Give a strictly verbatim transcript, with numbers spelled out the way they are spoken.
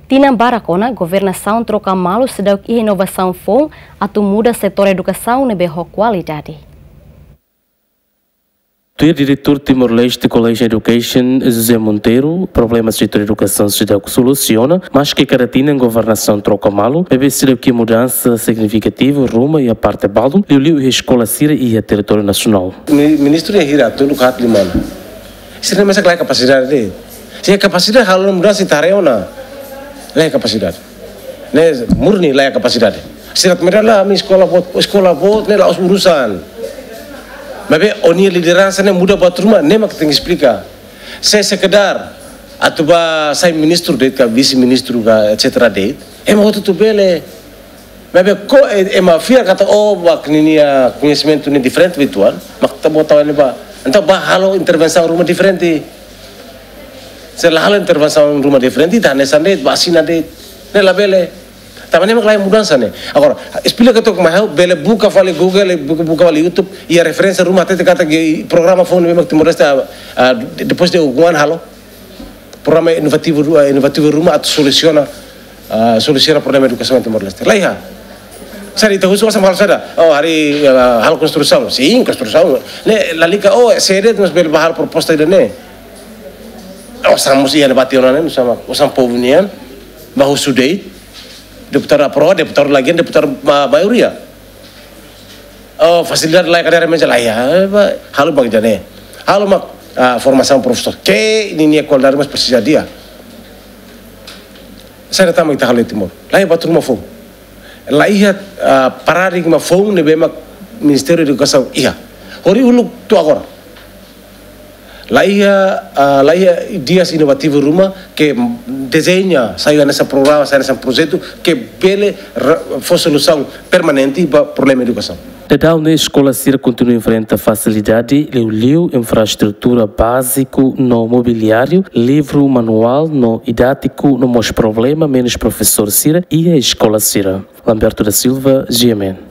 Tinan barak ona, governasaun troka malu seidauk iha inovasaun foun atu muda setór edukasaun ne'ebé ho kualidade. Tuir Diretór Timor-Leste College Education, José Monteiro, problema setór edukasaun seidauk solusiona, maske kada tinan governasaun troka malu, maibé seidauk iha mudansa signifikativu ruma iha parte balun, liuliu iha eskola sira iha territóriu nasionál. Mi-, ministru iha hira, tolu ka haat liman. Sira mesak laiha kapasidade. Se kapasidade halo mudansa ita haree ona. Laiha kapasidade. Ne'e murni laiha kapasidade. Sira mereka lah, ami eskola boot, eskola boot, ne'e la'ós urusan. Maibé ó-nia lideransa ne'e muda buat ruma, ne'e mak tenke esplika. Se sekedar atu bá sai ministru de'it ka vise-ministru ka et cetera de'it, ema hotu-hotu bele. Maibé ko e-, ema fiar katak ó bá ninia koñesimentu ne'e diferente uitoan, mak ita-boot tau ne'ebá. Entaun bá halo intervensaun ruma diferente. Se la halo intervensaun ruma diferente, ita hanesan de'it, bá asina de'it. Ne'e labele. Tanba ne'e mak laiha mudansa ne'e. Agora, esplika took mai ha'u, bele buka fali Google, buka, buka fali YouTube, iha referénsia ruma hatete katak programa foun ne'ebé mak Timor-Leste, ah, ah, depois de algum ano halo. Programa inovativu ru-, ah, inovativu ruma atu solusiona, ah, solusiona problema edukasaun Timor-Leste. Laiha. Saida ita husu osan halo saida? Oh, harii, ah, halo konstrusaun. Sin, konstrusaun. Ne'e lalika, oh, sede mas bele bá halo proposta ida-ne'e. Osan mós iha ne'ebá tiha ona ne'e, osan, osan povu nian. Bá husu de'it. Deputadu aprova, deputadu lagi, deputadu ma-, maioria. Oh, fasilidade laiha, kadeira, meza laiha, eh, bá, halo mak ida-ne'e. Halo mak, ah, formasaun profesór. Ke ninia kualidade mós presiza di'ak. Saida tama ita halo iha Timor? Laiha buat ruma foun. Laiha, ah, paradigma foun ne'ebé mak Ministériu Edukasaun iha. Hori uluk to'o agora. Laiha, ah, laiha ideias inovativu ruma ke dezeña, sai hanesan programa, sai hanesan projetu ke bele ra-, fó solusaun permanente ba problema edukasaun. Daudaun ne'e eskola sira kontinua enfrenta fasilidade, liuliu infraestrutura báziku no mobiliáriu, livru, manuál no didátiku no mós problema menus profesór sira iha eskola sira. Lamberto da Silva, G M N.